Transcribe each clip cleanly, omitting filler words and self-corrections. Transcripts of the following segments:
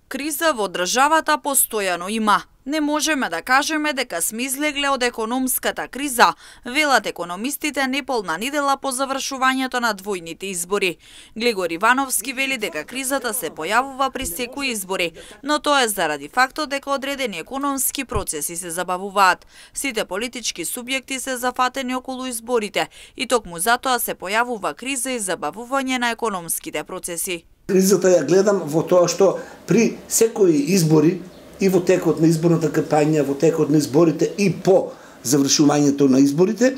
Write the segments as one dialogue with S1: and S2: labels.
S1: Криза во државата постојано има. Не можеме да кажеме дека сме излегле од економската криза, велат економистите неполна недела по завршувањето на двојните избори. Глегор Ивановски вели дека кризата се појавува при секои избори, но тоа е заради фактот дека одредени економски процеси се забавуваат. Сите политички субјекти се зафатени околу изборите и токму затоа се појавува криза и забавување на економските процеси.
S2: Кризата ја гледам во тоа што при секои избори и во текот на изборната кампања, во текот на изборите и по завршувањето на изборите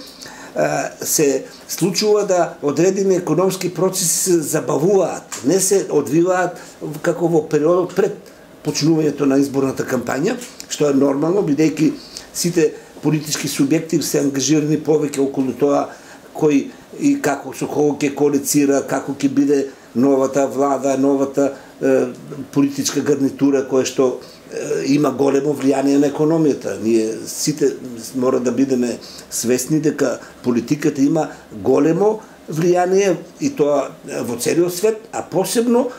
S2: се случува да одредени економски процеси се забавуваат, не се одвиваат како во периодот пред почнувањето на изборната кампања, што е нормално, бидејќи сите политички субјекти се ангажирани повеќе околу тоа кој и како со кого ќе коалицира, како ќе биде новата влада, новата политичка гарнитура која што има големо влијание на економијата. Ние сите мора да бидеме свесни дека политиката има големо влијание и тоа во целиот свет, а посебно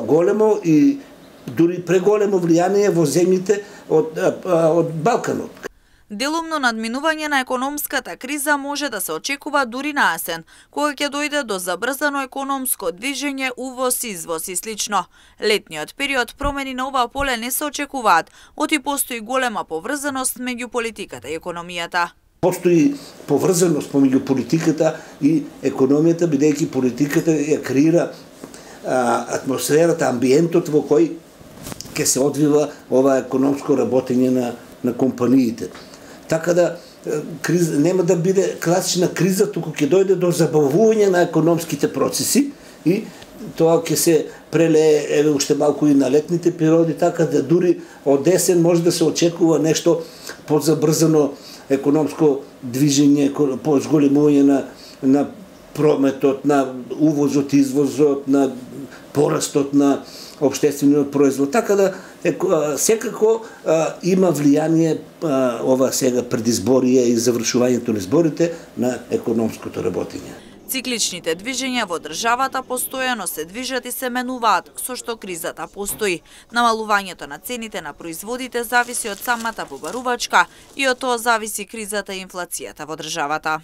S2: големо и дури преголемо влијание во земјите од Балканот.
S1: Делумно надминување на економската криза може да се очекува дури на есен, кога ќе дојде до забрзано економско движење, увоз, извоз и слично. Летниот период промени на ова поле не се очекуваат, оти постои голема поврзаност меѓу политиката и економијата.
S2: Постои поврзаност помеѓу политиката и економијата, бидејќи политиката ја креира атмосферата, амбиентот во кој ќе се одвива ова економско работење на компаниите. Така да криза нема да биде класична криза, туку ќе дојде до забавување на економските процеси и тоа ќе се прелее уште малку и на летните периоди, така да дури од есен може да се очекува нешто позабрзано економско движење, позголемување на прометот, на увозот, извозот, на порастот на општествениот производ. Така да секако има влијание ова сега предизборие и завршувањето на изборите на економското работење.
S1: Цикличните движења во државата постојано се движат и се менуваат, со што кризата постои. Намалувањето на цените на производите зависи од самата побарувачка и од тоа зависи кризата и инфлацијата во државата.